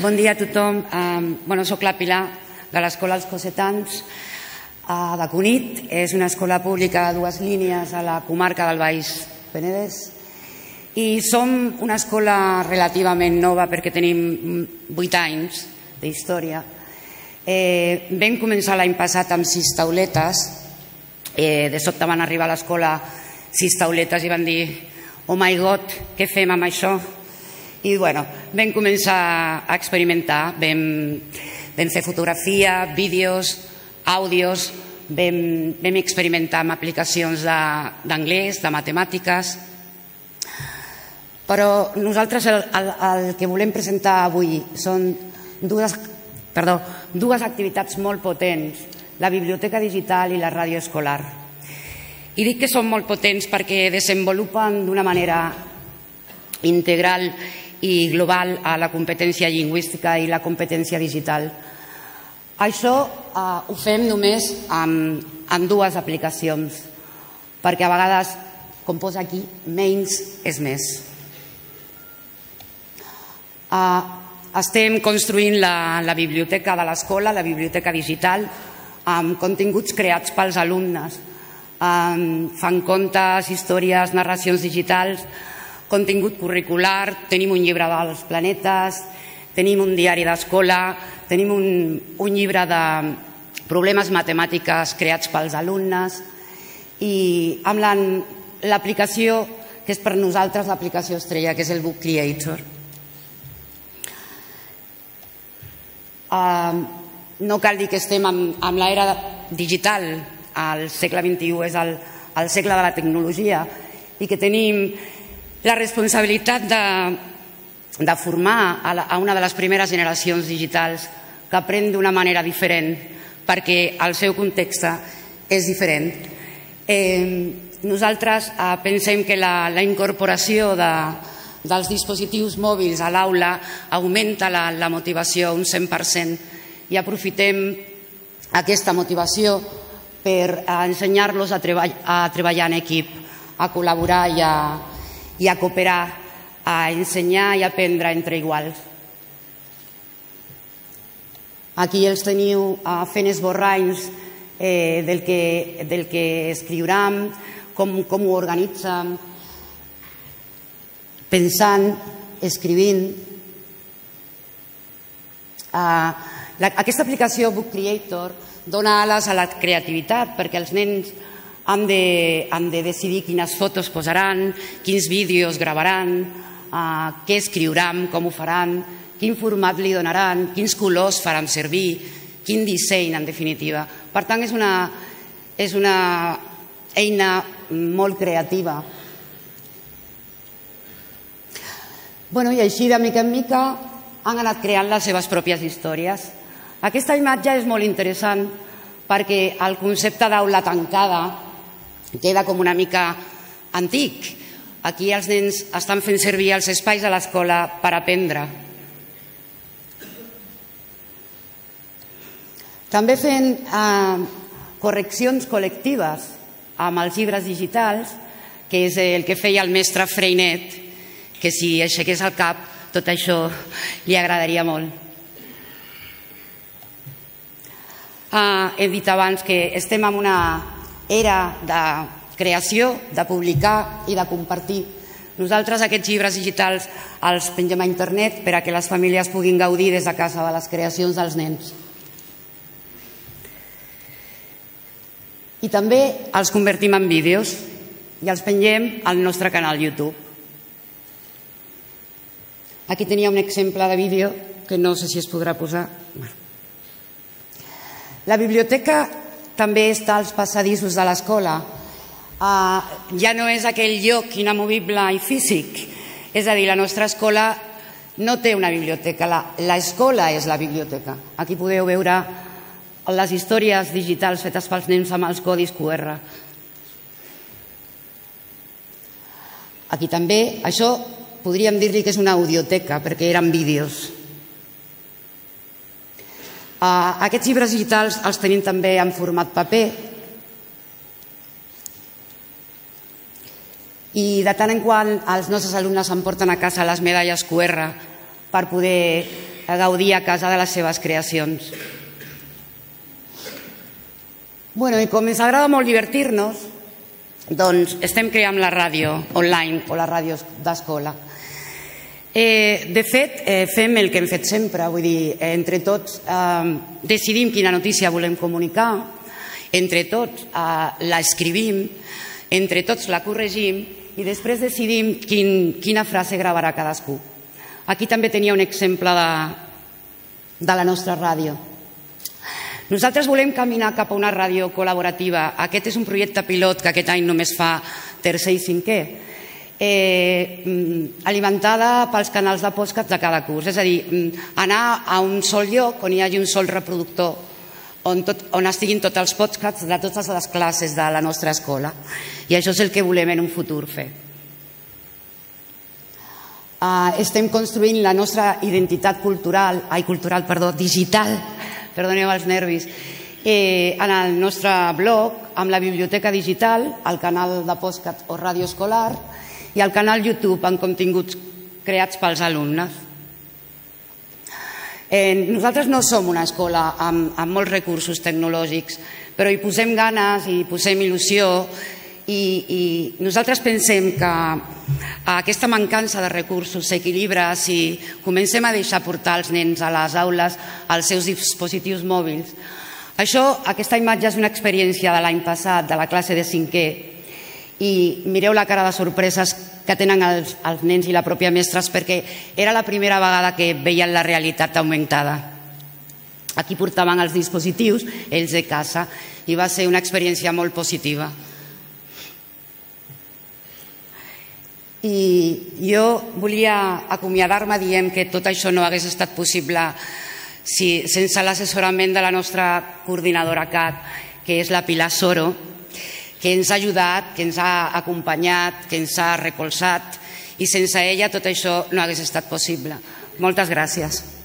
Bon dia a tothom. Soc la Pilar, de l'Escola Els Cossetans, de Cunit. És una escola pública de 2 línies a la comarca del Baix Penedès. I som una escola relativament nova perquè tenim 8 anys d'història. Vam començar l'any passat amb 6 tauletes. De sobte van arribar a l'escola 6 tauletes i van dir «Oh my God, què fem amb això?» I vam començar a experimentar. Vam fer fotografia, vídeos, àudios, vam experimentar amb aplicacions d'anglès, de matemàtiques. Però nosaltres el que volem presentar avui són dues activitats molt potents, la biblioteca digital i la ràdio escolar. I dic que són molt potents perquè desenvolupen d'una manera integral i global a la competència lingüística i la competència digital. Això ho fem només amb 2 aplicacions, perquè a vegades, com posa aquí, menys és més. Estem construint la biblioteca de l'escola, la biblioteca digital, amb continguts creats pels alumnes. Fan contes, històries, narracions digitals, contingut curricular, tenim un llibre dels planetes, tenim un diari d'escola, tenim un llibre de problemes matemàtiques creats pels alumnes i amb l'aplicació que és per nosaltres l'aplicació estrella, que és el Book Creator. No cal dir que estem en l'era digital, el segle XXI és el segle de la tecnologia i que tenim la responsabilitat de formar a una de les primeres generacions digitals que aprèn d'una manera diferent perquè el seu context és diferent. Nosaltres pensem que la incorporació dels dispositius mòbils a l'aula augmenta la motivació un 100% i aprofitem aquesta motivació per ensenyar-los a treballar en equip, a col·laborar i a cooperar, a ensenyar i aprendre entre iguals. Aquí els teniu fent esborranys del que escriuran, com ho organitzen, pensant, escrivint. Aquesta aplicació Book Creator dona ales a la creativitat perquè els nens han de decidir quines fotos posaran, quins vídeos gravaran, què escriuran, com ho faran, quin format li donaran, quins colors faran servir, quin disseny, en definitiva. Per tant, és una eina molt creativa. I així, de mica en mica, han anat creant les seves pròpies històries. Aquesta imatge és molt interessant perquè el concepte d'aula tancada queda com una mica antic. Aquí els nens estan fent servir els espais de l'escola per aprendre. També fent correccions col·lectives amb els llibres digitals, que és el que feia el mestre Freinet, que si aixequés el cap tot això li agradaria molt. He dit abans que estem en una era de creació, de publicar i de compartir. Nosaltres aquests llibres digitals els pengem a internet per a que les famílies puguin gaudir des de casa de les creacions dels nens. I també els convertim en vídeos i els pengem al nostre canal YouTube. Aquí tenia un exemple de vídeo que no sé si es podrà posar. La biblioteca també està als passadissos de l'escola. Ja no és aquell lloc inamovible i físic. És a dir, la nostra escola no té una biblioteca, l'escola és la biblioteca. Aquí podeu veure les històries digitals fetes pels nens amb els codis QR. Aquí també, això podríem dir-li que és una audioteca, perquè eren vídeos. Aquests llibres digitals els tenim també en format paper i de tant en quant els nostres alumnes emporten a casa les medalles QR per poder gaudir a casa de les seves creacions. I com ens agrada molt divertir-nos, doncs estem creant la ràdio online o la ràdio d'escola. De fet, fem el que hem fet sempre, vull dir, entre tots decidim quina notícia volem comunicar, entre tots l'escrivim, entre tots la corregim i després decidim quina frase gravarà cadascú. Aquí també tenia un exemple de la nostra ràdio. Nosaltres volem caminar cap a una ràdio col·laborativa. Aquest és un projecte pilot que aquest any només fa tercer i cinquè, alimentada pels canals de podcast de cada curs. És a dir, anar a un sol lloc on hi hagi un sol reproductor on estiguin tots els podcasts de totes les classes de la nostra escola. I això és el que volem en un futur fer. Estem construint la nostra identitat digital, perdoneu els nervis, en el nostre blog, amb la biblioteca digital, el canal de podcast o ràdio escolar i el canal YouTube amb continguts creats pels alumnes. Nosaltres no som una escola amb molts recursos tecnològics, però hi posem ganes i hi posem il·lusió i nosaltres pensem que aquesta mancança de recursos s'equilibra si comencem a deixar portar els nens a les aules els seus dispositius mòbils. Aquesta imatge és una experiència de l'any passat, de la classe de cinquè, i mireu la cara de sorpreses que tenen els nens i la pròpia mestres perquè era la primera vegada que veien la realitat augmentada. Aquí portaven els dispositius, ells de casa, i va ser una experiència molt positiva. I jo volia acomiadar-me dient que tot això no hagués estat possible sense l'assessorament de la nostra coordinadora CAT, que és la Pilar Soro, que ens ha ajudat, que ens ha acompanyat, que ens ha recolzat, i sense ella tot això no hagués estat possible. Moltes gràcies.